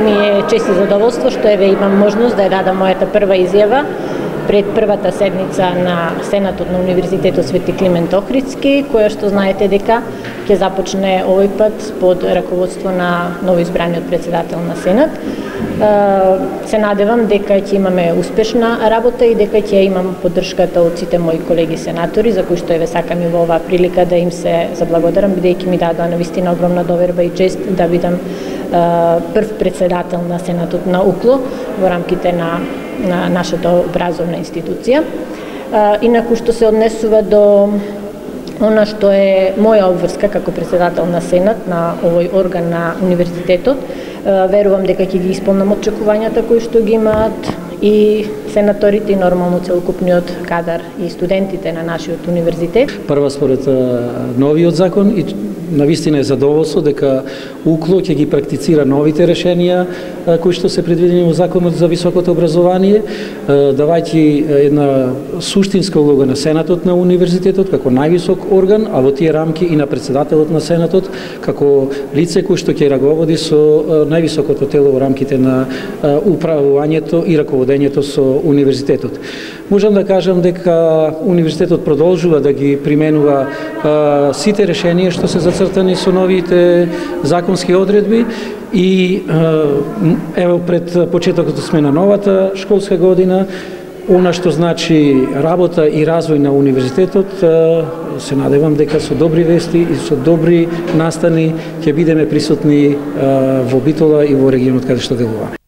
ми е чест и задоволство што еве имам можност да ја дадам мојата прва изјава пред првата седница на Сенатот на Универзитетот Свети Климент Охридски, која што знаете дека ќе започне овој пат под раководство на новоизбраниот председател на Сенат. Се надевам дека ќе имаме успешна работа и дека ќе имам поддршката од сите мои колеги сенатори, за кои што еве сакам и во оваа прилика да им се заблагодарам, бидејќи ми дадоа навистина огромна доверба и чест да бидам прв председател на Сенатот на УКЛО во рамките на нашата образовна институција. Инаку што се однесува до она што е моја обврска како председател на Сенат на овој орган на универзитетот, верувам дека ќе ги исполнам очекувањата кои што ги имаат и сенаторите и нормално целокупниот кадар и студентите на нашиот универзитет. Прва според новиот закон и навистина е задоволство дека УКЛО ќе ги практицира новите решенија кои што се предвидени во Законот за високото образование, давајќи една суштинска улога на Сенатот на универзитетот како највисок орган, а во тие рамки и на председателот на Сенатот како лице кој што ќе раговоди со највисокото тело во рамките на управувањето и раководењето со универзитетот. Можам да кажам дека универзитетот продолжува да ги применува сите решенија што се зацртани со новите законски одредби и ево пред почетокот сме на новата школска година. Она што значи работа и развој на универзитетот, се надевам дека со добри вести и со добри настани ќе бидеме присутни во Битола и во регионот каде што делуваме.